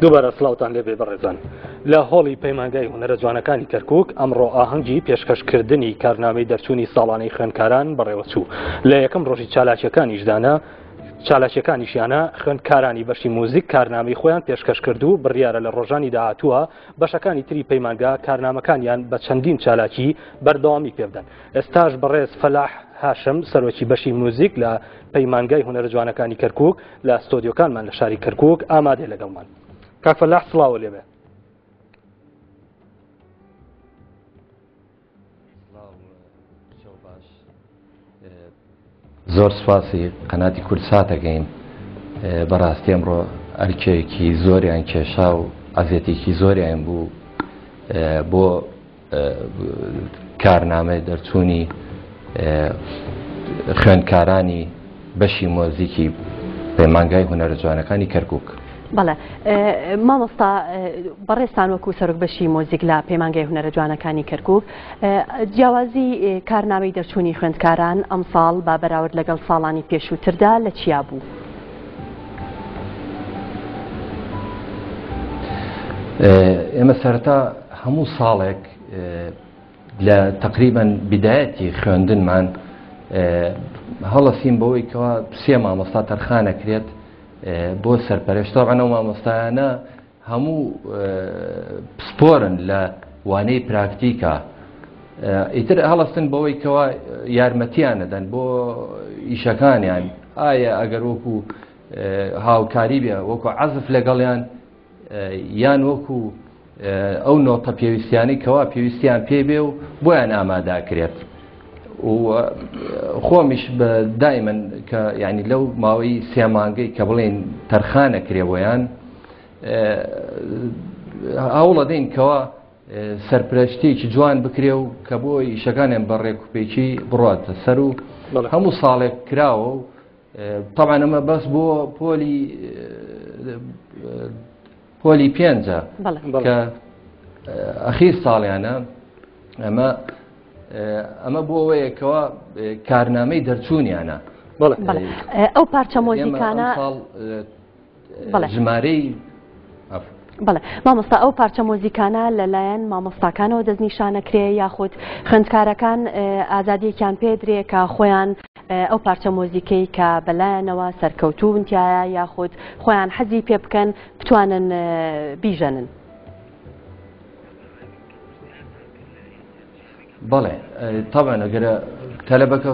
دووبارە سڵاوتان لێبێ بەڕێزان. لە هۆڵی پەیمانگای هونەرە جوانەکانی کەرکوک ئەمڕۆ ئاهەنگی پێشکەشکردنی کارنامەی دەرچوونی ساڵانەی خوێندکاران بەڕێوەچوو. لە یەکەم ڕۆژی چالاکیەکانیشدانە چالاکیەکانیشیانە خوێندکارانی بەشی موزیک کارنامەی خۆیان پێشکەش کرد و بڕیارە لە ڕۆژانی داهاتووە بەشەکانی تری پەیمانگا کارنامەکانیان بە چەندین چالاکی بەردەوامی پێبدەن. ئێستاش بەڕێز فەلاح هاشم سەرۆکی بەشی موزیک لە پەیمانگای هونەرە جوانەکانی کەرکوک لە ستۆدیۆکانمان لە شاری کەرکوک ئامادەیە لەگەڵمان. کاک فەلاح سڵاوە لێبێ. زۆر سوپاسی قەناتی کوردسات ئەکەین بەڕاستی ئەمڕۆ ئەرکێکی زۆریان کێشا و ئەزیەتێکی زۆریان بوو بۆ کارنامەی دەرچوونی خوێندکارانی بەشی مۆزیکی پەیمانگای هونەرە جوانەکانی کەرکک. بەڵێ مامۆستا بەڕێزتان وەکو سەرۆک بەشی مۆزیک لە پەیمانگای هونەرە جوانەکانی کەرکک جیاوازی کارنامەی دەرچوونی خوێندکاران ئەمساڵ بە بەراورد لەگەڵ ساڵانی پێشووتردا لە چیا بوو؟ ئێمە سەرەتا هەموو ساڵێک لە تقریبا بدایەتی خوێندنمان هەڵەسین بەوەی کەوا سێ مامۆستا تەرخانەکرێت بۆ سەرپەرشت تەبعەن ئەو مامۆستایانە هەموو پسپۆرن لە وانەی پراکتیکا ئیتر هەڵستن بەوەی کەوا یارمەتیان نەدەن بۆ ئیشەکانیان ئایا ئەگەر وەکو هاوکاری بێ وەکو عەزف لەگەڵیان یان وەکو ئەو نۆتە پێویستیانەی کەوا پێویستیان پێ بێ و بۆیان ئاماداکرێت و خۆمیش بە دایمەن کە ینی لەو ماوەی سێ مانگەی کە بڵێن تەرخانە کرێ بۆیان هەوڵەدەین کەوا سەرپرەشتێکی جوان بکرێ و کە بۆ ئیشەکانیان بە ڕێکوپێکی بڕاتە سەر و هەموو ساڵێک کراوە و تەبعەن ئەمە بەس بۆ پۆلی پۆلی پێنجە کە ئەخیر ساڵیانە ئەمە ئەمە بۆ ئەوەیە کەوا کارنامەی دەرچوونیانە ئەو پارچە مۆزیکانە ژمارەی بەڵێ مامۆستا ئەو پارچە مۆزیکانە لەلایەن مامۆستاکانەوە دەستنیشانەکرێ یاخود خوێندکارەکان ئازادیەکیان پێدرێ کە خۆیان ئەو پارچە مۆزیکەی کە بەلایەنەوە سەرکەوتوو تایە یاخود خۆیان حەزی پێ بکەن بتوانن بیژەنن. بەڵێ تەبعەن ئەگەر تەلەبەکە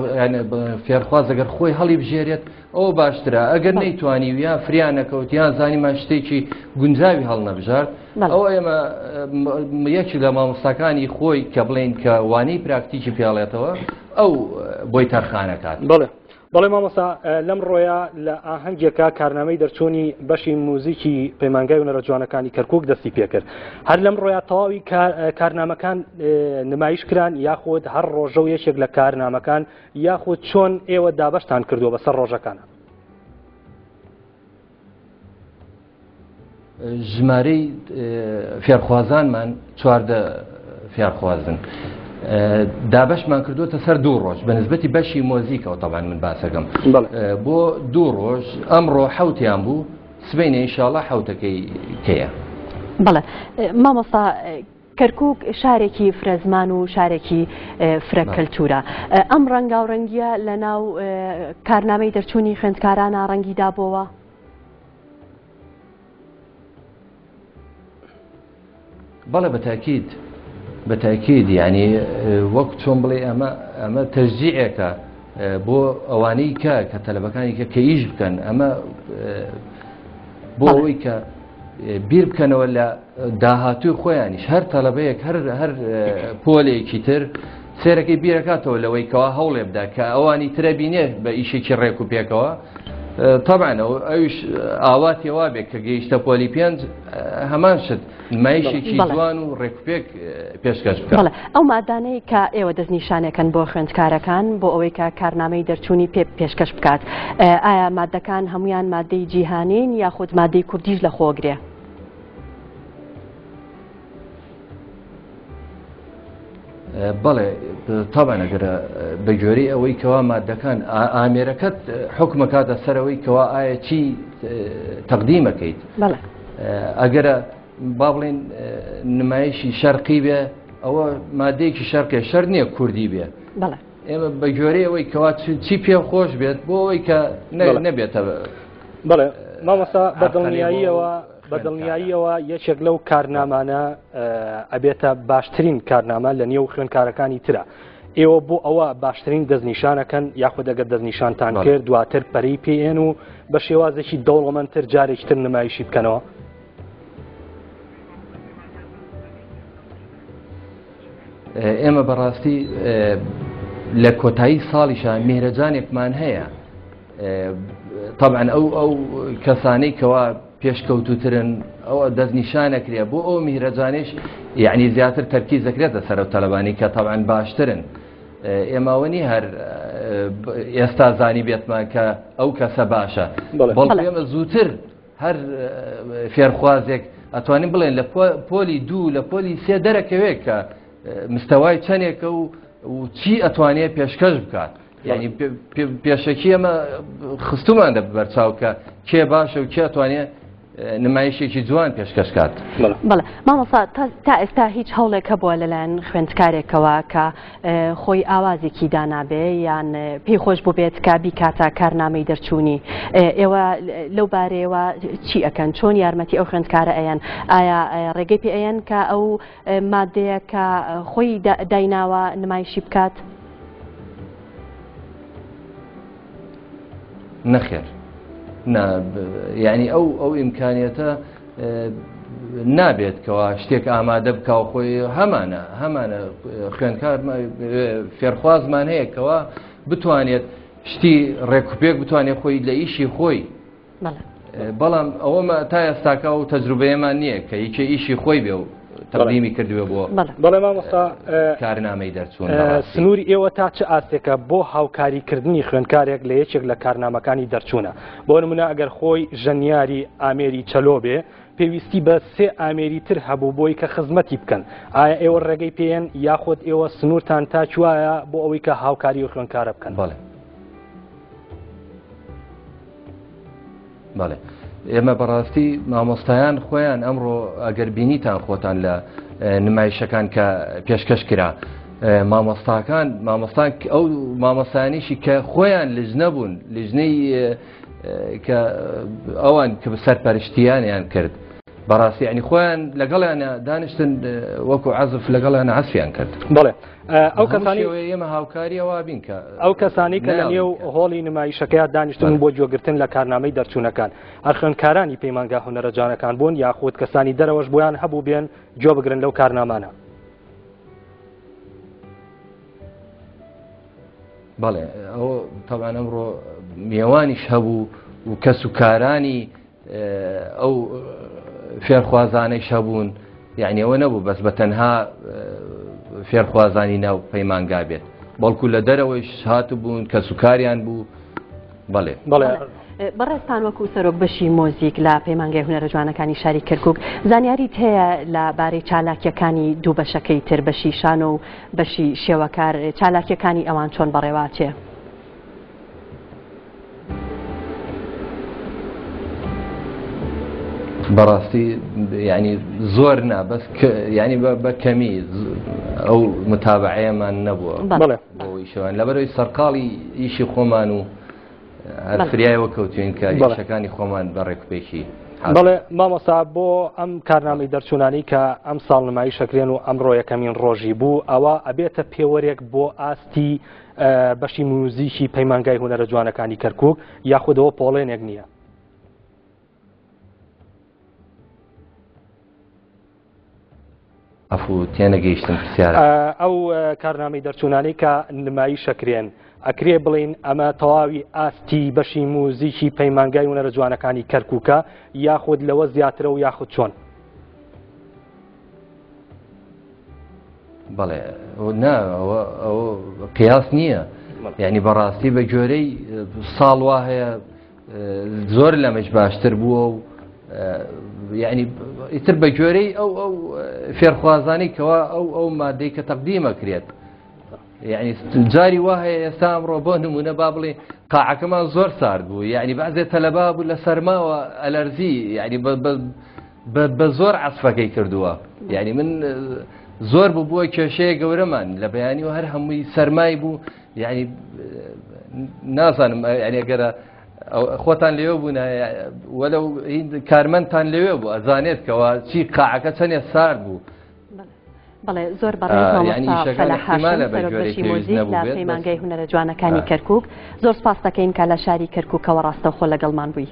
فێرخواز ئەگەر خۆی هەڵی بژێرێت ئەو باشترە ئەگەر نەیتوانی و یان فریا نەکەوت یان زانیمان شتێکی گونجاوی هەڵنەبژارد ئەو ئێمە یەکی لە مامۆستاکانی خۆی کە بڵین کە وانەی پراکتیکی پێڵێتەوە ئەو بۆی تەرخانەکات بڵێ بەڵێ مامۆستا لەم ڕۆیە لە ئاهەنگێکا کارنامەی دەرچوونی بەشی موزیکی پەیمانگای هونەرە جوانەکانی کەرکک دەستی پێکرد هەر لەم ڕۆیا تەواوی کارنامەکان نمایش کران یاخود هەر ڕۆژە و یەکێک لە کارنامەکان یاخود چۆن ئێوە دابەشتان کردووە بەسەر ڕۆژەکانە ژمارەی فێرخوازانمان 14 فێرخوازن دابەشمان کردوتە سەر دوو ڕۆژ بە نسبەتی بەشی مۆزیکەوە تەبان من باسەکەم بۆ دوو ڕۆژ ئەمڕۆ حوتیان بوو سبینە ئینشاءاللە حوتەکەی کەیە بەڵێ مامۆستا کەرکک شارێکی فرەزمان و شارێکی فرە کەلتورە ئەم ڕەنگاوڕەنگیە لە ناو کارنامەی دەرچوونی خوێندکارانە ڕەنگی دابەوە بەڵێ بەتاکید بەتاکید یعنی وەک چۆن بڵێ ئەمە ئەمە تەشجیعێکە بۆ ئەوانەی کە کە تەلەبەکانی کە کە ئیش بکەن ئەمە بۆ ئەوەی کە بیر بکەنەوە لە داهاتووی خۆیانیش هەر تەلەبەیەک هەر هەر پۆلێکی تر سێرەکەی بیرەکاتەوە لەوەی کەوا هەوڵێ بدا کە ئەوانی ترە بینێ بە ئیشێکی ڕێک و پێکەوە تەبعەن ئەویش ئاواتی وا بێ کە گەیشتە پۆلی پێنج هەمان شت نمایشێکی جوان و ڕێکوپێک پێشکەش بکە. ئەو مادانەی کە ئێوە دەستنیشانەکەن بۆ خوێندکارەکان بۆ ئەوەی کە کارنامەی دەرچوونی پێ پێشکەش بکات ئایا مادەکان هەمویان مادەی جیهانین یاخود مادەی کوردیش لە خۆگرێ؟ بەڵێ تاوان ئەگەر بە گوێرەی ئەوەی کەوا مادەکان ئامێرەکەت حکومەکاتە سەرەوەی کەوا ئایا چی تەقدیمەکەیت. ئەگەرە با بڵێن نمایشی شەرقی بێ ئەوە مادەیەکی شەرقێ شەر نییە کوردی بێ ئێمە بە گوێرەی ئەوەی کەوا چی پێ خۆش بێت بۆ ئەوەی کە نەبێتە بەڵێ مامۆستا بە دڵنیاییەوە بە دڵنیاییەوە یەکێک لەو کارنامانە ئەبێتە باشترین کارنامە لە نێو خوێندکارەکانی ترە. ئێوە بۆ ئەوە باشترین دەستنیشانەکەن یاخود ئەگەر دەستنیشانتان کرد دواتر پەرەی پێێن و بە شێوازێکی دەوڵەمەندتر جارێکی تر نمایشی بکەنەوە؟ ئێمە بەڕاستی لە کۆتایی ساڵیشا میهرەجانێکمان هەیە طبعا ئەو ئەو کەسانەی کەوا پێشکەوتوترن ئەو دەستنیشانەکرێ بۆ ئەو میهرەجانیش یعنی زیاتر تەرکیز دەکرێتە سەر ئەو تەلەبانی کە طبعا باشترن ئێماوە نی هەر ئێستا زانی بێتمان کە ئەو کەسە باشە بەڵکو ئێمە زووتر هەر فێرخوازێک ئەتوانین بڵێن لە پۆلی دوو لە پۆلی سێ دەرەکەوێت کە مستەوای چەندێکە و چی ئەتوانێت پێشکەش بکات یعنی پێشەکی ئەمە خستومان دە بەرچاو کە کێ باشە و کێ ئەتوانێت نمایشێکی جوان پێشکەش کات. بەڵێ مامۆستا تا ئێستا هیچ هەوڵێک هەبووە لەلایەن خوێندکارێکەوە کە خۆی ئاوازێکی دانابێ یان پێی خۆش بووبێت کە بیکاتە کارنامەی دەرچوونی ئێوە لەو بارەیەوە چی ئەکەن چۆن یارمەتی ئەو خوێندکارە ئەیەن ئایا ڕێگەی پێ ئەیەن کە ئەو مادەیە کە خۆی دایناوە نمایشی بکات؟ نەخێر نا یعنی ئەو ئەو ئیمکانیەتە نابێت کەوا شتێک ئامادە بکە و خۆی هەمانە هەمانە خوێندکار فێرخوازمان هەیە کەوا بتوانێت شتی ڕێکوپێک بتوانێت خۆی لە ئیشی خۆی بەڵام ئەوەمە تا ئێستاکە و تەجروبەیەمان نییە کە یەکێ ئیشی خۆی بێ و تەقدیمی کردوێ بۆ بەڵێ مامۆستا کارنامەی دەرچوون سنووری ئێوە تا چ ئاستێکە بۆ هاوکاریکردنی خوێندکارێک لە یەکێک لە کارنامەکانی دەرچوونە بۆ نمونە ئەگەر خۆی ژەنیاری ئامێری چەلۆ بێ پێویستی بە سێ ئامێری تر هەبوو بۆی کە خزمەتی بکەن ئایا ئێوە ڕێگەی پێێن یاخود ئێوە سنوورتان تا کوایە بۆ ئەوەی کە هاوکاری و خوێندکارە بکەن بەڵێ بەڵێ ئێمە بەڕاستی مامۆستایان خۆیان ئەمڕۆ ئەگەر بینیتان خۆتان لە نمایشەکان کە پێشکەش کرا مامۆستاکان مامۆستان ئەو مامۆستانیشی کە خۆیان لجنە بوون لجنەی کە ئەوان کە سەرپەرشتیانیان کرد بەڕاستی ینی خۆیان لەگەڵیان دانیشتن وەکو عزف لەگەڵیان عەزفیان کرد بڵێ ئەو کەسانی ئێمە هاوکاریەوە بین کە ئەو کەسانی کە لە نێو هۆڵی نمایشەکەیا دانیشتن بۆ گوێگرتن لە کارنامەی دەرچوونەکان هەر خوێندکارانی پەیمانگا هونەرە جوانەکان بوون یاخود کەسانی دەرەوەش بۆیان هەبوو بێن گوێ بگرن لەو کارنامانە. بەڵێ ئەو تەبان ئەمڕۆ میێوانیش هەبوو و کەس و کارانی ئەو فێرخوازانەیش هەبوون یعنی ئەوە نەبوو بەس بە تەنها فێرخوازانی ناو پەیمانگا بێت بەڵکو لە دەرەوەیش هاتبوون کەسوکاریان بوو بەڵێ بەڵێ بەڕێزتان وەکو سەرۆک بەشی مۆزیک لە پەیمانگای هونەرە جوانەکانی شاری کەرکک زانیاریت هەیە لە بارەی چالاکیەکانی دوو بەشەکەی تر بەشی شانۆ و بەشی شێوەکار چالاکیەکانی ئەوان چۆن بەڕێواچێ؟ بەڕاستی ینی زۆر نا بەس ینی بە کەمی ئەو متابعەیەمان نەبووە بۆ ئیشەوان لەبەرەوەی سەرقاڵی ئیشی خۆمان و هەر فریایەوە کەوتوین کە ئیشەکانی خۆمان بە ڕێکوپێکی بەڵێ مامۆستا بۆ ئەم کارنامەی دەرچوونانی کە ئەم ساڵ نمایش ئەکرێن و ئەمڕۆ یەکەمین ڕۆژی بوو ئەوە ئەبێتە پێوەرێک بۆ ئاستی بەشی موزیکی پەیمانگای هونەرە جوانەکانی کەرکوک یاخود ئەوە پۆڵێنێک نییە؟ عەفو تێنەگەیشتم پرسیارە. ئەو کارنامەی دەرچوونانەی کە نمایش ئەکرێن ئەکرێ بڵین ئەمە تەواوی ئاستی بەشی موزیکی پەیمانگای هونەرە جوانەکانی کەرکووکە یاخود لەوە زیاترە و یاخود چۆن؟ بەڵێ نا ئەوە قیاس نییە یعنی بەڕاستی بە گوێرەی ساڵ وا هەیە زۆر لەمەش باشتر بووە و یعنی ئیتر بە گوێرەی ئەو ئەو فێرخوازانی کەوا ئەو ئەو مادەی کە تەقدیمە کرێت یعنی جاری وا هەیە ئێستا ئەمڕۆ بۆ نمونە با بڵێ قاعەکەمان زۆر سارد بوو یعنی بەعزێ تەلەبا بوو لە سەرماوە ئەلەرزی یعنی بە بە زۆر عەسفەکەی کردووە یعنی من زۆر بوو بووە کێشەیە گەورەمان لە بەیانی و هەر هەمووی سەرمای بوو یعنی نازانم یعنی گەرە خۆتان لێوە بوون وەلو کارمەندتان لەوێ بوو ئەزانێت کەەوە چی قاعەکە چەندێ سارد بوو بەڵێ زۆر بەڕێز مامۆستا فەلاح هاشم سەرۆک بەشی مۆزیک لە پەیمانگای هونەرە جوانەکانی کەرکوک زۆر سپاس دەکەین کە لە شاری کەرکوکەوە ڕاستەوخۆ لەگەڵمان بووی.